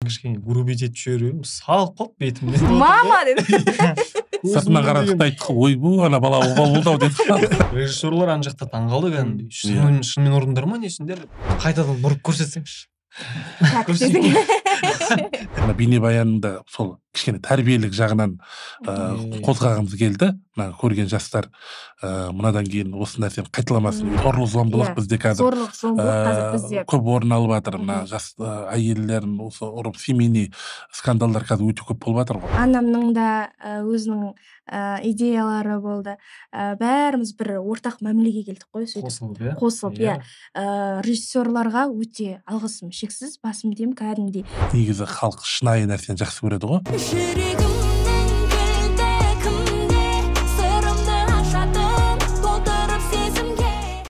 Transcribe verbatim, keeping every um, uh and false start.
кичине грубить этип жиберип салып калып бетимди. Мама деди. Сыртынан карадык да айттык, ойбу ана бала обал болду ау дедик. Режиссерлор ан жакта таң калды кәдимгидей. Шынымен шынымен урдыңдар ма несиңдер? Кайтадан уруп көрсөтсеңчи. Ана бийне баянында сол кичине тарбиялык жагынан козгагымыз келди. Мына көрген жаштар мынадан кийин осы нерсени кайталамасын. Зорлук зомбулук бизде азыр зорлук зомбулук азыр бизде көп орун алып атыр. Мына жаш айелдерин осы уруп семейный скандалдар азыр өтө көп болуп атыр го. Анамдын да өзүнүн идеялары болду. Баарыбыз бир ортак мамилеге келдик го, сөйтүп. Косулуп, э? Косулуп, иә. Режиссерлорго өтө алгысым шексиз, басым дейм, кәдимгидей. Негизи халк шынайы нерсени жакшы көрөт го.